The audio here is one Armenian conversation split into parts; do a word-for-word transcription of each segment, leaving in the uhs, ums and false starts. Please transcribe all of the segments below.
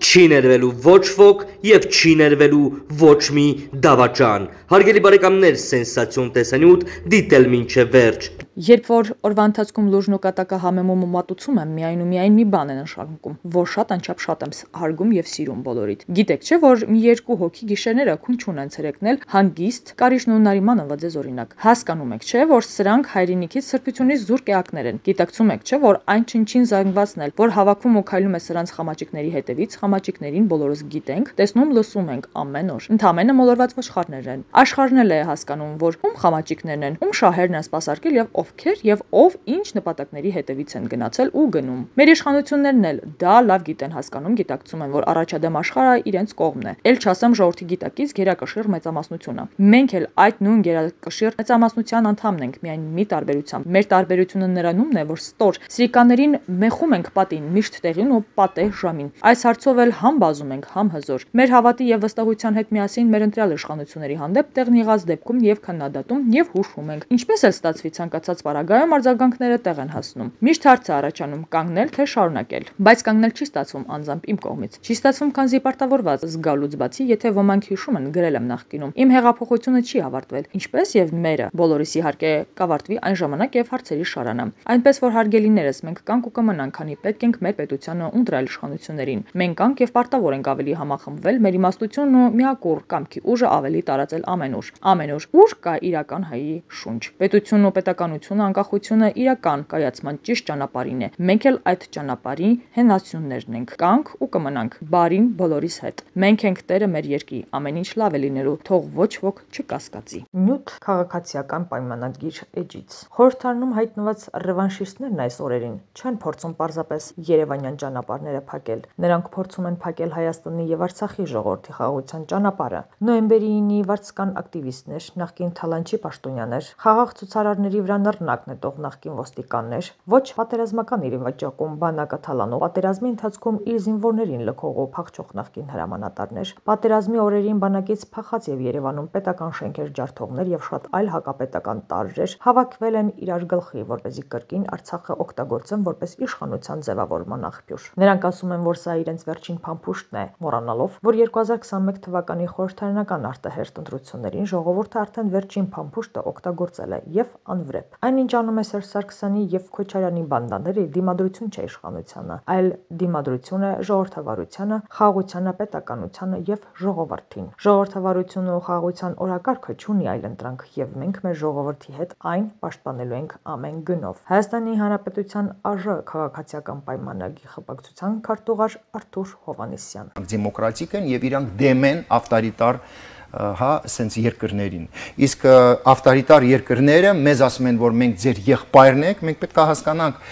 չի ներվելու ոչ ոք եւ չի ներվելու ոչ մի դավաճան։ Հարգելի բարեկամներ, սենսացիոն տեսանյութ դիտել մինչև վերջ։ Երբ որ օրվա ընթացքում լուժն ու կատակը համեմում ու մատուցում եմ, միայն ու միայն մի բան են նշանակում, որ շատ անչափ շատ եմ հարգում եւ սիրում բոլորիդ։ Գիտեք չէ, որ մի երկու հոգի գիշերները քուն չունեն ցերեկնել հանգիստ, կարիճն ու նարիմանը վաձեզ օրինակ։ Հասկանում եք չէ, որ սրանք հայրենիքից սրբությունից զուրկ էակներ են։ Գիտակցում եք չէ, որ այն չնչին զանգվածն էլ, որ հավաքում ու քայլում է սրանց խամաճիկների հետևից, խամաճիկներին բոլորս գիտենք, տեսնում լսում ենք ամեն օր։ Ընդամենը մոլորված ոչխարներ են։ Աշխարհն էլ է հասկանում, որ ում խամաճիկներն են, ում շահերն են սպասարկել եւ ովքեր եւ ով ինչ նպատակների հետևից են գնացել ու գնում։ Մեր իշխանություններն էլ դա լավ գիտեն, հասկանում, գիտակցում են, որ առաջադեմ աշխարհը իրենց կողմն է։ Էլ չասեմ ժողովրդի գիտակից գերակշիռ մեծամասնությունը։ Մենք էլ այդ նույն գերակշիռ մեծամասնության անդամն ենք, միայն մի տարբերությամբ։ Մեր տարբերությունը նրանումն է, որ ստոր սրիկաներին մեխում ենք պատին միշտ տեղին ու պատեհ ժամին։ Այս հարցով էլ համ բազում ենք, համ հզոր։ Մեր հավատի եւ վստահության հետ միասին մեր ընտրյալ իշխանությունների հանդեպ տեղն եղած դեպքում եւ քննադատում եւ հուշում ենք։ Ինչպես էլ ստացվի ցանկացած պարագայում արձագանքները տեղ են հասնում։ Միշտ հարց է առաջանում՝ կանգնել թե շարունակել։ Բայց կանգնել չի ստացվում անձամբ իմ կողմից։ Չի ստացվում, քանզի պարտավորված զգալուց բացի, եթե ոմանք հիշում են, գրել եմ նախկինում, իմ հեղափոխությունը չի ավարտվել, ինչպես եւ մերը, բոլորիս իհարկե կավարտվի այն ժամանակ եւ հարցերի շարանը։ Այնպես որ հարգելիներս, մենք կանք ու կմնանք, քանի պետք ենք մեր պետությանը ու ընտրյալ իշխանություններին։ Մենք կանք եւ պարտավոր ենք ավելի համախմբվել, մեր իմաստությունն ու միակուռ կամքի ուժը ավելի տարածել ամենուր։ Ամենուր, ուր կա իրական հայի շունչ։ Պետությունն ու պետականությունը, անկախությունը իրական կայացման ճիշտ ճանապարհին է։ Մենք էլ այդ ճանապարհի հենասյուններն ենք, կանք ու կմնանք բարին բոլորիս հետ։ Մենք ենք տերը մեր երկրի, ամեն ինչ լավ է լինելու, թող ոչ ոք չկասկածի։ Նյութ քաղաքացիական պայմանագիր էջից։ Խորհրդարանում հայտնված ռևանշիստներն այս օրերին չեն փորձում պարզապես երևանյան ճանապարհները փակել։ Նրանք փորձում են փակել Հայաստանի եւ Արցախի ժողովրդի խաղաղության ճանապարհը։ Նոյեմբերի ինի վարձկան ակտիվիստներ, նախկին Թալանչի պաշտոնյաներ, խաղաղ ցուցարարների վրա նռնակ նետող նախկին ոստիկաններ, ոչ պատերազմական իր վաճառքում բանակը թալանող, պատերազմի ընթացքում իր զինվորներին լքող ու փախչող նախկին հրամանատարներ, պատերազմի օրերին բանակից փախած եւ Երևանում պետական շենքեր ջարդողներ եւ շատ այլ հակապետական տարրեր հավաքվել են իրար գլխի, որպեսզի կրկին Արցախը օգտագործեն որպես իշխանության ձևավորման աղբյուր։ Նրանք ասում են, որ սա իրենց վերջին փամփուշտն է, մոռանալով, որ երկու հազար քսանմեկ թվականի խորհրդարանական արտահերթ ընտրություններին ժողովուրդը արդեն վերջին փամփուշտը օգտագործել է եւ անվրեպ։ Այնինչ անում է Սերժ Սարգսյանի եւ Քոչարյանի բանդաները դիմադրություն չէ իշխանությանը, այլ դիմադրություն է ժողովրդավարությանը, խաղաղությանը, պետականությանը եւ ժողովրդին։ Ժողովրդավարությունը ու խաղաղության օրակարգը չունի այլ ընտրանք եւ մենք մեր ժողովրդի հետ այն պաշտպանելու ենք ամեն գնով։ Հայաստանի Հանրապետության ԱԺ քաղաքացիական պայմանագրի խմբակցության քարտուղար Արթուր Հովհաննիսյան։ Դեմոկրատիկ են եւ իրանք դեմ են ավտորիտար հա սենց երկրներին։ Իսկ ավտորիտար երկրները մեզ ասում են, որ մենք ձեր եղբայրն ենք, մենք պետք է հասկանանք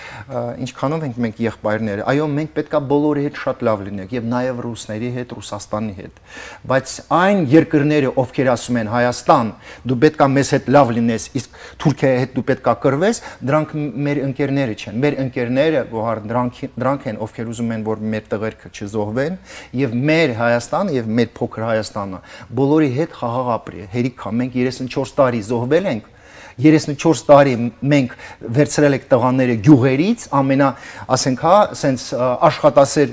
ինչքանով ենք մենք եղբայրները։ Այո, մենք պետք է բոլորի հետ շատ լավ լինենք եւ նաեւ ռուսների հետ, Ռուսաստանի հետ։ Բայց այն երկրները, ովքեր ասում են Հայաստան, դու պետք է մեզ հետ լավ լինես, իսկ Թուրքիայի հետ դու պետք է կռվես, դրանք մեր ընկերները չեն։ Մեր ընկերները, որ դրանք դրանք են, ովքեր ուզում են, որ մեր տղերքը չզոհվեն եւ մեր Հայաստանը եւ մեր փոքր Հայաստանը բոլորի հետ խաղաղ ապրի, հերիքա, մենք երեսունչորս տարի զոհվել ենք, երեսունչորս տարի մենք վերցրել ենք տղաները գյուղերից, ամենա, ասենք հա, սենց աշխատասեր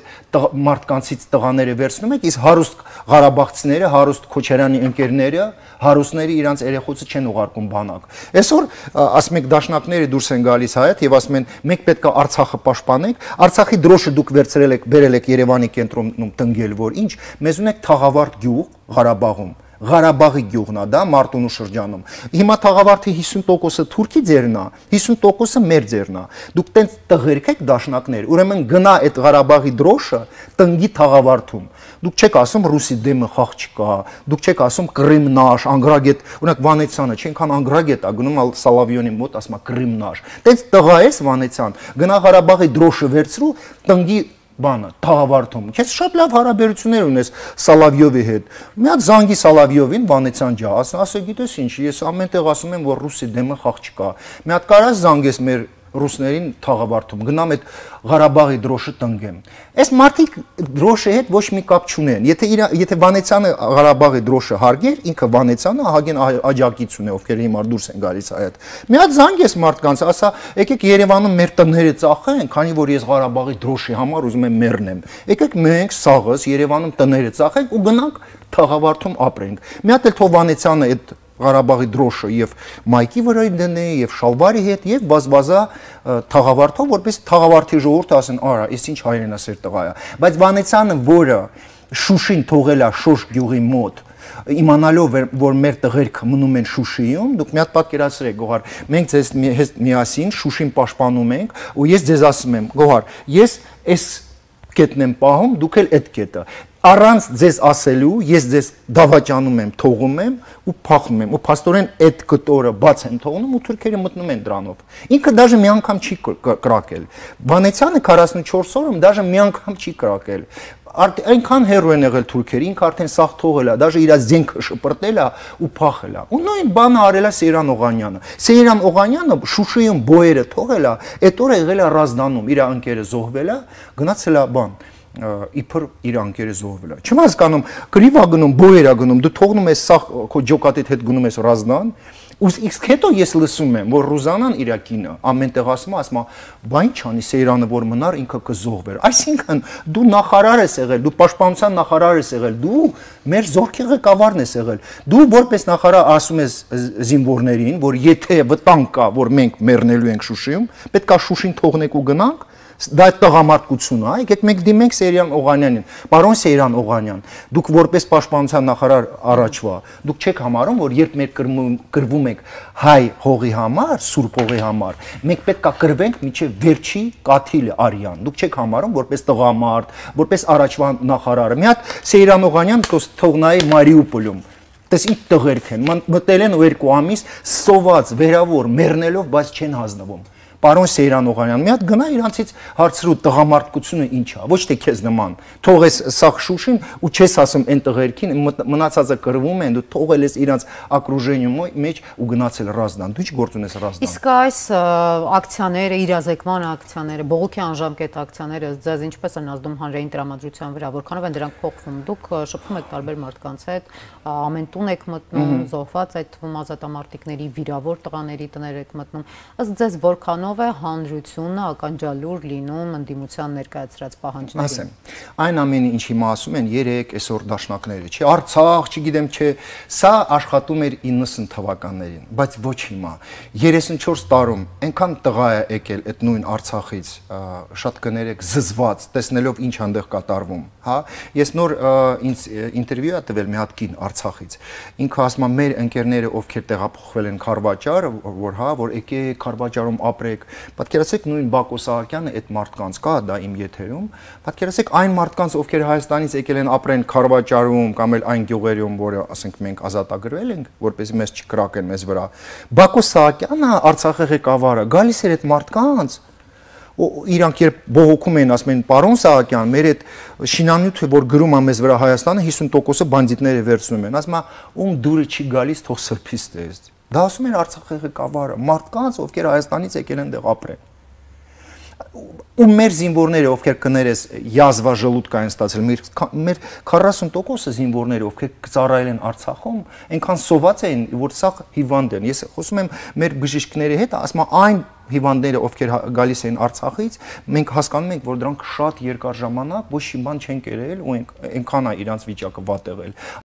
մարդկանցից տղաները վերցնում ենք, իսկ հարուստ Ղարաբաղցիները, հարուստ Քոչարյանի ընկերները, հարուստները իրանց երեխոցը չեն ուղարկում բանակ։ Այսօր ասում եք դաշնակները դուրս են գալիս հայտ եւ ասում են մենք պետք է Արցախը պաշտպանենք, Արցախի դրոշը դուք վերցրել եք, բերել եք Երևանի կենտրոնում տնգել, որ ինչ, մեզ ունեք Թաղավարտ գյուղ Ղարաբաղում։ Ղարաբաղի գյուղն է դա Մարտունու շրջանում։ Հիմա Թաղավարտի հիսուն տոկոսը թուրքի ձերն է, հիսուն տոկոսը մեր ձերն է։ Դուք տենց տղերք եք դաշնակներ, ուրեմն գնա այդ Ղարաբաղի դրոշը տնգի Թաղավարտում։ Դուք չեք ասում ռուսի դեմը խաղ չկա, դուք չեք ասում Կրիմնաշ, Անգրագետ, օրինակ Վանեցյանը, չենքան Անգրագետ է գնում Սալավյոնի մոտ, ասում է Կրիմնաշ։ Տենց տղա ես Վանեցյան, գնա Ղարաբաղի դրոշը վերցրու տնգի բանը Թաղավարտում։ Քեզ շատ լավ հարաբերություններ ունես Սալավյովի հետ։ Մի հատ զանգի Սալավյովին Վանեցյան ջա, ասա, գիտես ինչ, ես ամեն տեղ ասում եմ, որ ռուսի դեմը խաղ չկա։ Մի հատ կարաս զանգես մեր ռուսներին թաղավարտում, գնամ այդ Ղարաբաղի դրոշը տնկեմ։ Այս մարդիկ դրոշի հետ ոչ մի կապ չունեն։ Եթե եթե Վանեցյանը Ղարաբաղի դրոշը հարգեր, ինքը Վանեցյանը ահագին աջակից ունի, ովքեր հիմա դուրս են գալիս այդ։ Մի հատ զանգ ես մարդկանց, ասա, եկեք Երևանում մեր տները ծախեն, քանի որ ես Ղարաբաղի դրոշի համար ուզում եմ մեռնեմ։ Եկեք մենք սաղս Երևանում տները ծախենք ու գնանք թաղավարտում ապրենք։ Մի հատ էլ թող Վանեցյանը այդ Ղարաբաղի դրոշը եւ մայքի վրա դնե եւ շալվարի հետ եւ բազբազա թաղավարտով, որպես թաղավարտի ժողովուրդը ասեն, արա, ես ինչ հայրենասեր տղա է։ Բայց Վանեցյանը, որը Շուշին թողել է Շոշ գյուղի մոտ, իմանալով որ մեր տղերքը մնում են Շուշիում, դուք մի հատ պատկերացրեք, Գոհար, մենք ձեզ միասին Շուշին պաշտպանում ենք, ու ես ձեզ ասում եմ, Գոհար, ես այս կետն եմ պահում, դուք էլ այդ կետը։ Առանց ձեզ ասելու, ես ձեզ դավաճանում եմ, թողում եմ ու փախնում եմ, ու փաստորեն այդ կտորը բաց եմ թողնում ու թուրքերը մտնում են դրանով։ Ինքը դաժե մի անգամ չի կրակել։ Վանեցյանը քառասունչորս օրում դաժե մի անգամ չի կրակել։ Այնքան հերո են եղել թուրքերը, ինքը արդեն սաղ թողել է, դաժե իր զենքը շպրտել է ու փախել է։ Ու նույն բանը արել է Սեյրան Օղանյանը։ Սեյրան Օղանյանը Շուշիում բոյերը թողել է, այդ օրը եղել է Ռազդանում, իր անկերը զոհվել է, գնացել է բան իբր իր անկերը զոհվել է։ Չեմ հասկանում, գրիվ ա գնում, բոյեր ա գնում, դու թողնում ես սաղ քո ջոկատիդ հետ գնում ես Ռազդան, ու իսկ հետո ես լսում եմ, որ Ռուզանան իր կինը ամենտեղ ասում է, ասում է, բա ինչ անի Սեյրանը որ մնար ինքը կզոհվեր։ Այսինքն դու նախարար ես եղել, դու պաշտպանության նախարար ես եղել, դու մեր զորքի ղեկավարն ես եղել։ Դու որպես նախարար ասում ես զինվորներին, որ եթե վտանգ կա, որ մենք մեռնելու ենք Շուշիում, պետք է Շուշին թողնենք ու գնանք։ Դա տղամարդկություն է, եկեք մենք դիմենք Սեյրան Օղանյանին, պարոն Սեյրան Օղանյան, դուք որպես պաշտպանության նախարար առաջվա, դուք չեք համարում, որ երբ մենք կրվում ենք հայ հողի համար, սուրբ հողի համար, մենք պետք է կրվենք մինչև վերջի կաթիլը արյան, դուք չեք համարում որպես տղամարդ, որպես առաջվա նախարարը։ Մի հատ Սեյրան Օղանյան թող նայի Մարիուպոլում, տես ինչ տղերք են, մտել են ու երկու ամիս սոված, վերավոր, մեռնելով, բայց չեն հանձնվում։ Պարոն Սեյրան Օղանյան, մի հատ գնա իրանցից հարցրու տղամարդկությունը ինչ է, ոչ թե քեզ նման։ Թողես սաղ Շուշին ու չես ասում այն տղերքին, մնացածը կրվում են, դու թողել ես իրանց ակրուժենիու մեջ ու գնացել Ռազդան։ Դու ինչ գործ ունես Ռազդան։ Իսկ այս ակցիաները, իրազեկման ակցիաները, բողոքի անժամկետ ակցիաները ձեզ ինչպես են ազդում հանրային տրամադրության վրա, որքանով են դրանք փոխվում։ Դուք շփվում եք տարբեր մարդկանց հետ, ամեն տուն եք մտնում, զոհված այդ թվում ազատամարտիկների, վիրավոր տղաների տներ եք մտնում։ Ըստ ձեզ որքանով է հանրությունը ականջալուր լինում ընդդիմության ներկայացրած պահանջներին։ Ասեմ, այն ամենը ինչ հիմա ասում են երեք այսօր դաշնակները, չի Արցախ, չգիտեմ, չէ, սա աշխատում էր իննսուն թվականներին, բայց ոչ հիմա։ երեսունչորս տարում այնքան տղա է եկել այդ նույն Արցախից, շատ կներեք զզված, տեսնելով ինչ այնտեղ կատարվում, հա։ Ես նոր ինձ ինտերվյու ա տվել մի հատ կին Արցախից։ Ինքը ասում է մեր ընկերները, ովքեր տեղափոխվել են Քարվաճար, որ հա, որ եկեք Քարվաճարում ապրեք։ Պատկերացրեք նույն Բակո Սահակյանը այդ մարդկանց կա դա իմ եթերում, պատկերացրեք այն մարդկանց, ովքեր Հայաստանից եկել են ապրեն Քարվաճարում կամ էլ այն գյուղերում, որը ասենք մենք ազատագրվել ենք, որպեսզի մեզ չկրակեն մեզ վրա։ Բակո Սահակյանը Արցախի ղեկավարը գալիս էր այդ մարդկանց իրանք երբ բողոքում էին, ասում են, պարոն Սահակյան, մեր այդ շինանյութը, որ գրում է մեզ վրա Հայաստանը, հիսուն տոկոսը բանդիտները վերցնում են, ասում է, ում դուրը չի գալիս, թող սրբից տես։ Դա ասում են Արցախի ղեկավարը, մարդկանց, ովքեր Հայաստանից եկել են դեղ ապրեն։ Ու մեր զինվորները, ովքեր կներես յազվա ժլուտք են ստացել, մեր քառասուն տոկոսը զինվորները, ովքեր ծառայել են Արցախում, այնքան սոված էին, որ սա հիվանդ են։ Ես խոսում եմ մեր բժիշկների հետ, ասում եմ այն հիվանդները, ովքեր գալիս են Արցախից, մենք հասկանում ենք, որ դրանք շատ երկար ժամանակ ոչ մի բան չեն կերել ու այնքան է իրանց վիճակը վատ եղել։